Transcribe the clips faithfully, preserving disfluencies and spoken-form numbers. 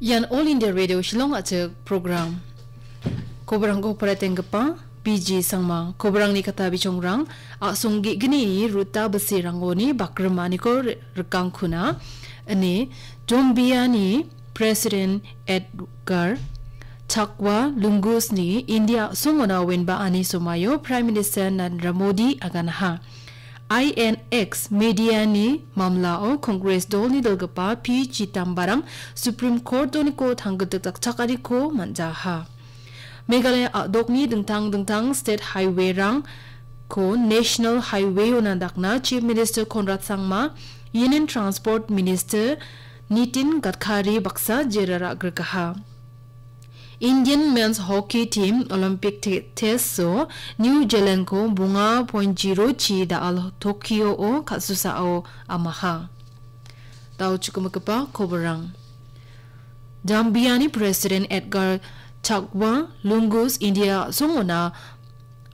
Ian All India Radio Shillong a·chik program. Koborangko paratenggipa B G Sangma. Koborangni kata bichongrang, a·song ge·gnini Ruta Bisirangoni bakrimaniko ri-, rikangkuna, ine Jambiani President Edgar Chakwa Lungusni India a·songona wenba ani somaio Prime Minister Narendra Modi aganaha. I N X mediani mamlao Congress dolni dilgipa P Chidambaram Supreme Court-oniko tanggitik dakchakaniko man·jaha. Meghalaya a·dokni dingtang dingtang state highway-rangko National Highway-ona dakna Chief Minister Conrad Sangma, Union Transport Minister Nitin Gadkari baksa jera ra·grikaha. Indian men's hockey team Olympic te-, test-o New Zealand-ko bonga point zero chi da·al Tokyo-o kal·susao amaha. Dao chukimigipa koborang. Jambiani President Edgar Chakwa Lungus India a·songona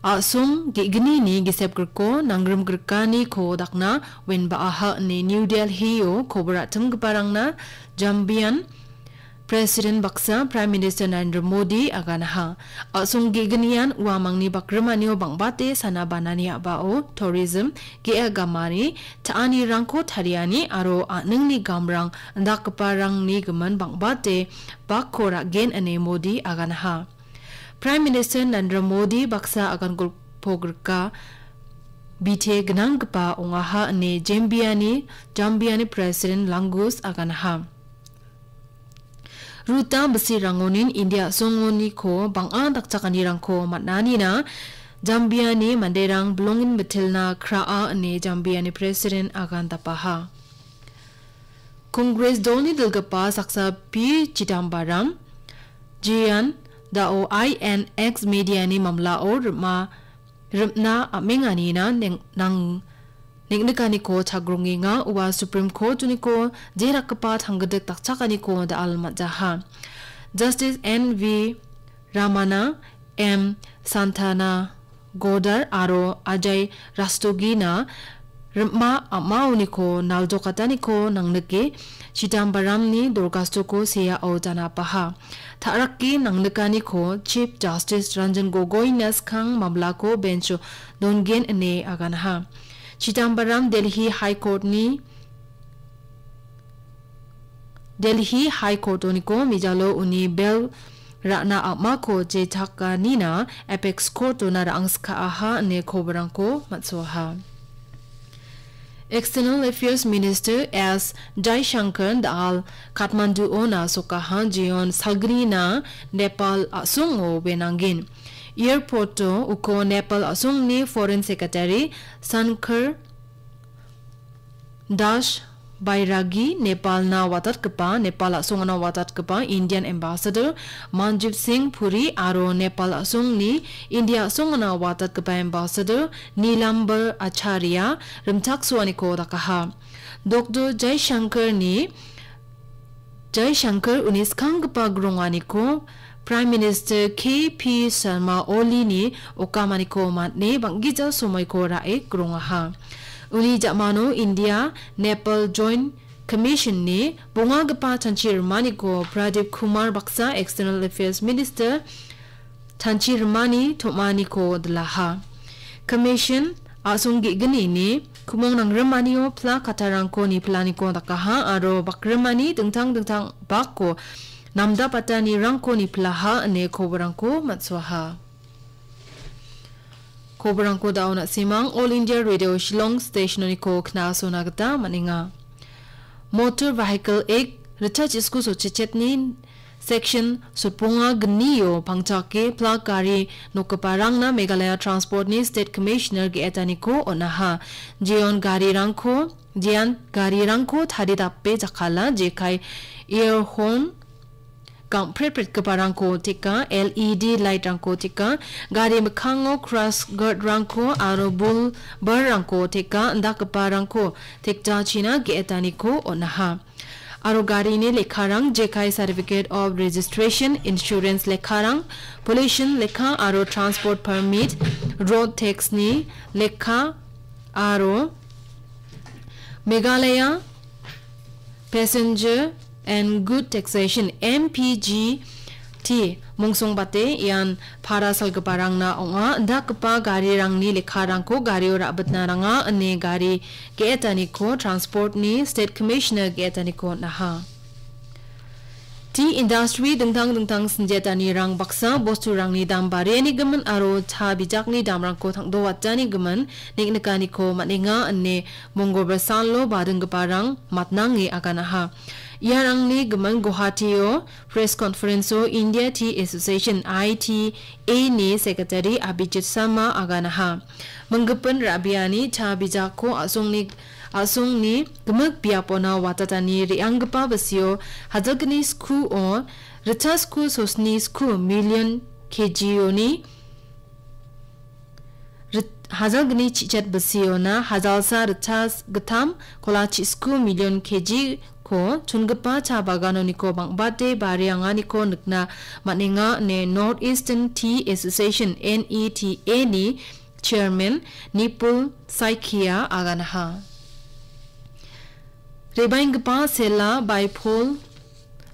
a·song ge·gnini gisepgriko nanggrimgrikaniko dakna wenbaaha ine New Delhi-o kobor a·timgiparangna Jambian President baksa Prime Minister Narendra Modi aganaha. A·song ge·gnian uamangni bakrimanio bang·bate sana banani a·bao tourism, ge·a gamani, ta·anirangko tariani aro a·ningni gamrang indakgiparangni gimin bang·bate bakko ra·gen ine Modi aganaha. Prime Minister Narendra Modi baksa agan golpo grika bite gnanggipa ong·aha ine Jambiani, Jambiani President Langus aganaha. Ruta Bisirangonin India a·songoniko bang·a dakchakanirangko man·anina Jambiani manderang bilongin mitilna kraa ine Jambiani President agan dapaha. Congress dolni dilgipa saksa P Chidambaram, jean dao I N X mediani mamlao rima, rimna am·enganina neng-, nang-, neng·nikaniko chagrongenga ua Supreme Court-oniko jerakgipa tanggidik dakchakaniko da·al man·jaha. Justice N V Ramana, M Santana Godar aro Ajay Rastogina rima am·aoniko naljokataniko nangnike Chidambaramni dorgastoko seao janapaha. Ta·rake nangnikaniko Chief Justice Ranjan Gogoina skang mamlako bench-o dongen ine aganaha. Chidambaram Delhi High Court-ni Delhi High Court-oniko mijalo uni bel ra·na am·ako jechakanina Apex Court-ona ra·angskaaha ine koborangko man·soaha. External Affairs Minister S Jaishankar da·al Kathmandu-ona sokaha jeon salgnina Nepal a·songo wenanggen. Airport-o uko Nepal a·songni Foreign Secretary Shankar Das Bairagi, Nepalna watatgipa, Nepal a·songona watatgipa Indian Ambassador Manjib Singh Puri aro Nepal a·songni India a·songona watatgipa Ambassador Nilambar Acharya rimchaksoaniko dakaha. Doctor Jaishankarni Jaishankar uni skanggipa gronganiko Prime Minister K P Sharma Olini okamaniko man·e bang·gija somoiko ra·e grongaha. Uni ja·mano India Nepal Joint Commission-ni bongagipa chanchi rimaniko Pradip Kumar baksa External Affairs Minister chanchi rimani tom·aniko dilaha. Commission a·song ge·gnini kumong nangrimanio pla kattarangko nipilaniko dakaha aro bakrimani dingtang dingtang bakko namdapatanirangko nipilaha ine koborangko man·soaha. Koborangko da·o na·simang All India Radio Shillong Station-oniko knasona gita man·enga. Motor Vehicle Act ritchachisku sochechetni Section soponga gnio pangchake plak gari nokgiparangna Meghalaya Transport-ni State Commissioner ge·etaniko on·aha. Jeon garirangko, jean garirangko taridape jakala, jekai ear horn, gangpretpretgiparangko teka, L E D light-rangko teka, gari mikkango crash guard-rangko aro bul bar-rangko teka, indakgiparangko tekjachina ge·etaniko on·aha. Aro garini lekkarang, jekai Certificate of Registration, Insurance lekkarang, Pollution lekka aro Transport Permit, Road Tax-ni lekka aro Meghalaya Passenger and Good Taxation, M P G T, mongsongbate ian para salgiparangna ong·a. Indakgipa garirangni lekkarangko gario ra·bitna ranga ine gari ge·etaniko Transportni State Commissioner ge·etaniko on·aha. Tea industry dingtang dingtang sinjetanirang baksa bosturangni dam barianigimin aro cha bijakni damrangko tangdoatanigimin nik-nikaniko man·enga ine Mongolbar salo badinggiparang matnange aganaha. Iarangni gimin Guwahatio press conference-o India Tea Association, I T A, ni Secretary Abhijit Sharma aganaha. Minggipin ra·biani cha bijakko a·songni, a·songni gimik biapona watatani re·anggipa bisio hajalgni skuo rita sku sosni sku million K G-oni rit-, hajalgni chichet bisiona hajalsa rita gittam kolachi sku million K G-ko chongipa cha baganoniko bang·bate barianganiko nikna man·enga ine North Eastern Tea Association, N E T A, ni Chairman Nipul Saikia aganaha. Rebaenggipa Sela Baipol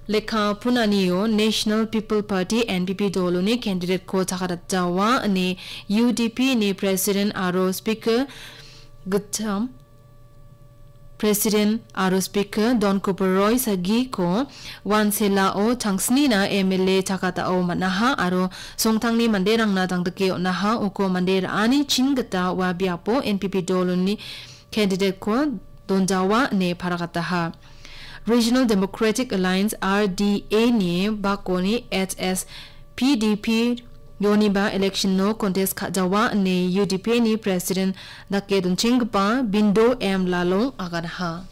lekka punanio National People Party, N P P, doloni candidate-ko chakatjawa ine U D P ni President aro Speaker gittam President aro Speaker Don Cooper Roy sagiko Wanselao tangsnina M L A chakatao man·aha aro songtangni manderangna dangdike on·aha. Uko mande ra·ani chin gita ua biapo N P P doloni candidate-ko donjawa ine paragataha. Regional Democratic Alliance, R D A, ni bakoni H S P D P ioniba election-o contest ka·jawa ine U D P ni President dake donchenggipa Bindo M Lalong aganaha.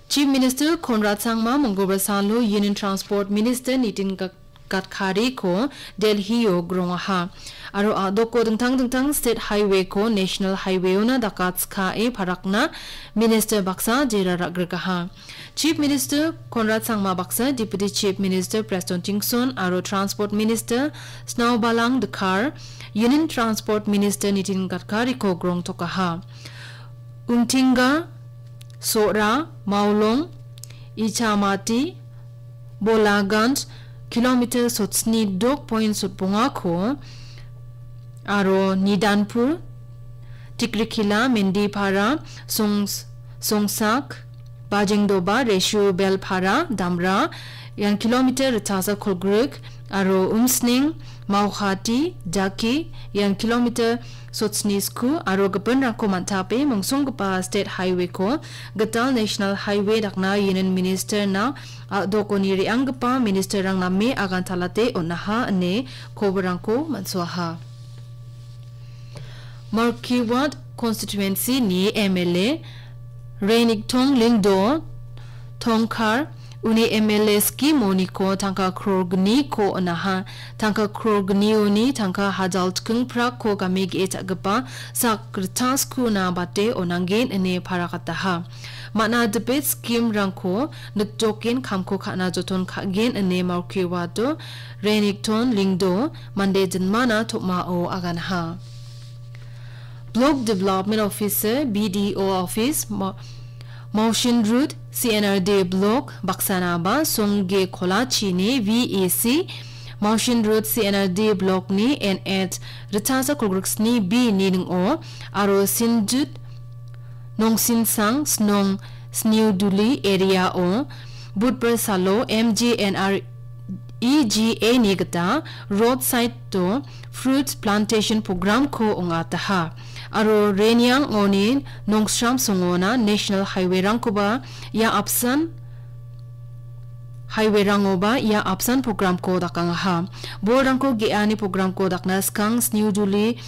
Chief Minister Conrad Sangma Mongolbar salo Union Transport Minister Nitin Gad-, Gadkari-ko Delhi-o grongaha. Aro a·doko dingtang dingtang state highway-ko national highway-ona dakatskae parakna minister baksa jera ra·grigaha. Chief Minister Conrad Sangma baksa, Deputy Chief Minister Prestone Tynsong aro Transport Minister Snowbalang Dkhar, Union Transport Minister Nitin Gadkari-ko grongtokaha. Umtinga, Sora, Maulong, Ichamati, Bolaganj, kilometer sotsni dok point sotbongako, aro Nidanpur, Tikrikila, Mendipara, Songs-, Songsak, Bajengdoba, Reshu, Belpara, Damra, ian kilometer ritasa kolgrik, aro Umsning, Mauhati, Daki, ian kilometer sotsni sku, aro gipinrangko man·tape mongsonggipa state highway-ko gital national highway dakna Union Minister-na a·dokoni re·anggipa ministerrang name agantalate on·aha ine koborangko man·soaha. Markiwat constituency-ni M L A Renikton Lyngdoh Tongkhar uni M L A scheme-oniko tangka crore gniko on·aha. Tangka crore gnioni tangka hajal chikingprakko game ge·e cha·gipa sak rita skuna bate on·angen ine paragataha. Man·a debate scheme-rangko nikjoken kamko ka·na joton ka·gen ine Markiwato Renikton Lyngdoh mande jinmana tom·ao aganaha. Block Development Officer, B D O Office, Ma-, Mawshinrud C N R D Block baksanaba Songge Kolachini V E C, Mawshinrud C N R D Block-ni N H ritasa kolgriksni B ni ning·o, aro Sinjut Nongsinsang Snong Sniuduli area-o Budbar salo M G N R E G A-ni gita roadside-o fruit plantation program-ko ong·ataha. Aro Reniang-oni Nongsram songona national highway-rangkoba ia apsan highway-rangoba ia apsan program-ko dakangaha. Bolrangko ge·ani program-ko dakna skang Sniuduli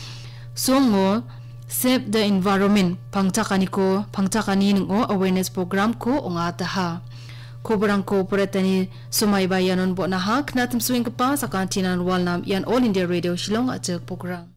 songo Save the Environment pangchakaniko, pangchakani ning·o awareness program-ko ong·ataha. Koborangko poretani somaiba ianon bon·aha. Knatimsoenggipa sakantinan walnam ian All India Radio Shillong a·chik program.